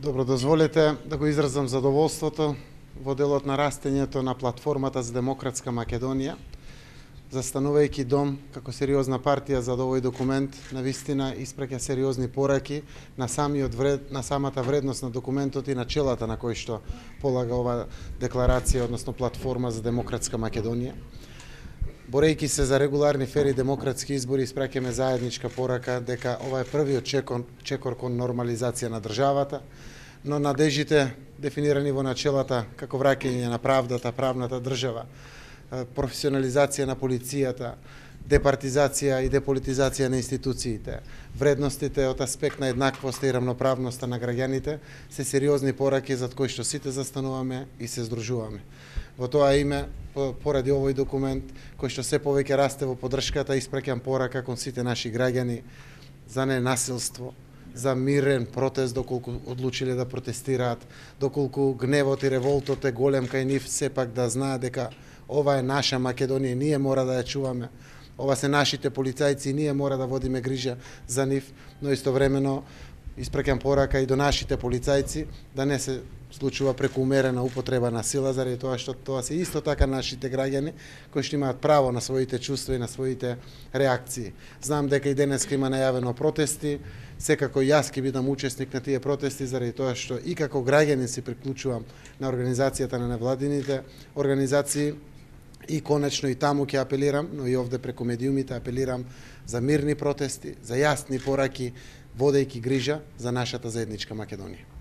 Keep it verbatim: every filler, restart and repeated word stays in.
Добро, дозволете да го изразам задоволството во делот на растењето на платформата за демократска Македонија, застанувајќи дом како сериозна партија за овој документ, навистина испраќа сериозни пораки на самиот вред, на самата вредност на документот и начелата на кој што полага ова декларација, односно платформа за демократска Македонија. Борејќи се за регуларни, фери демократски избори, испраќаме заедничка порака дека ова е првиот чекор, чекор кон нормализација на државата, но надежите дефинирани во начелата како враќање на правдата, правната држава, професионализација на полицијата, департизација и деполитизација на институциите, вредностите од аспект на еднаквост и рамноправноста на граѓаните се сериозни пораки зад кои што сите застануваме и се здружуваме. Во тоа име, поради овој документ, кој што се повеќе расте во поддршката, испраќам порака кон сите наши граѓани за ненасилство, за мирен протест доколку одлучиле да протестираат, доколку гневот и револтот е голем кај нив, сепак да знаат дека ова е наша Македонија, ние мора да ја чуваме. Ова се нашите полицајци, ние мора да водиме грижа за нив, но истовремено испраќам порака и до нашите полицајци да не се случува прекумерена употреба на сила, заради тоа што тоа се исто така нашите граѓани кои што имаат право на своите чувства и на своите реакции. Знам дека и денеска има најавено протести, секако јас ќе бидам учесник на тие протести, заради тоа што и како граѓанин се приклучувам на организацијата на невладините организации и конечно и таму ќе апелирам, но и овде преку медиумите апелирам за мирни протести, за јасни пораки, водејќи грижа за нашата заедничка Македонија.